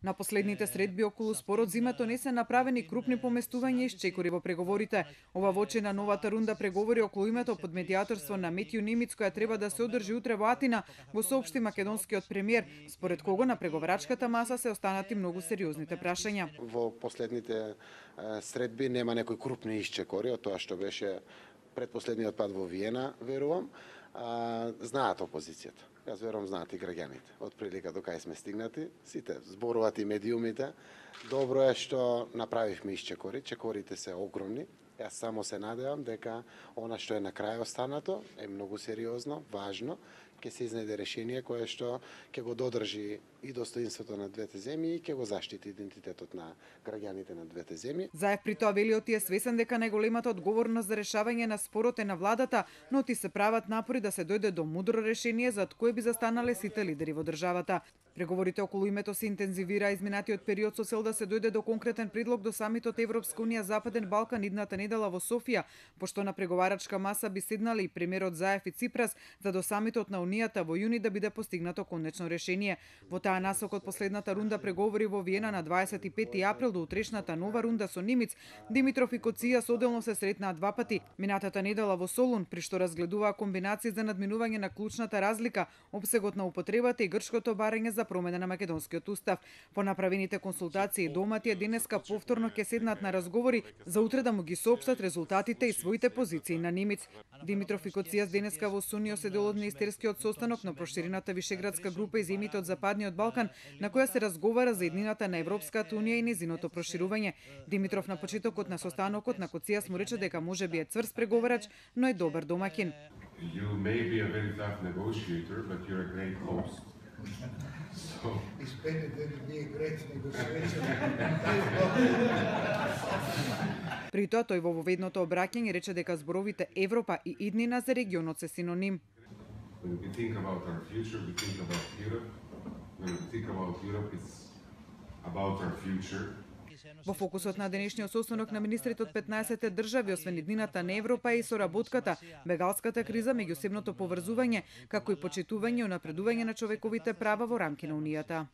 На последните средби околу спорот за името не се направени крупни поместувања и чекори во преговорите. Ова во очи на новата рунда преговори околу името под медијаторство на Метју Нимиц, која треба да се одржи утре во Атина, го соопшти македонскиот премиер, според кого на преговарачката маса се останати многу сериозните прашања. Во последните средби нема некои крупни исчекори од тоа што беше предпоследниот пат во Виена, верувам. Знаат опозицијата. Јас верувам знаат и граѓаните. Од прилика до кај сме стигнати, сите зборуваат и медиумите. Добро е што направивме исчекори, чекорите се огромни. Јас само се надевам дека она што е на крај останато е многу сериозно, важно, ќе се изнајде решение кое што ќе го додржи и достоинството на двете земји и ќе го заштити идентитетот на граѓаните на двете земји. Заев при тоа вели оти е свесен дека најголемата одговорност за решавање на спорот е на владата, но оти се прават напори да се дојде до мудро решение за кое би застанале сите лидери во државата. Преговорите околу името се интензивира изминатиот период со цел да се дојде до конкретен предлог до самитот Европска унија Западен Балкан идната недела во Софија, пошто на преговарачка маса би седнале и премиерот Заев и Ципрас, за до самитот на Унијата во јуни да биде постигнато конечно решение. Во таа насок од последната рунда преговори во Виена на 25 април до утрешната нова рунда со Нимиц, Димитров и Коција соделно се сретнаа два пати, минатата недела во Солун, при што разгледуваа комбинации за надминување на клучната разлика, опсегот на употребата и грчкото барање за промена на македонскиот устав. По направените консултации доматија денеска повторно ќе седнат на разговори за утре да му ги соопштат резултатите и своите позиции на Нимиц. Димитров и Коција денеска во Сунио се дел од министерскиот состанок на проширената Вишеградска група и земјите од Западниот Балкан, на која се разговара за еднината на Европската унија и незиното проширување. Димитров на почетокот на состанокот на Коција му рече дека може би е цврст преговарач, но е добар домаќин. You may be a very tough negotiator, but you're a great host. It's better than to be a great negotiator. При тоа тој во воведното обраќање рече дека зборовите Европа и иднина за регионот се синоним. When we think about our future, we think about Europe. When we think about Europe, it's about our future. Во фокусот на денешниот состанок на министрите од 15 држави, освен иднината на Европа и соработката, бегалската криза, меѓусебното поврзување, како и почитување и унапредување на човековите права во рамки на Унијата.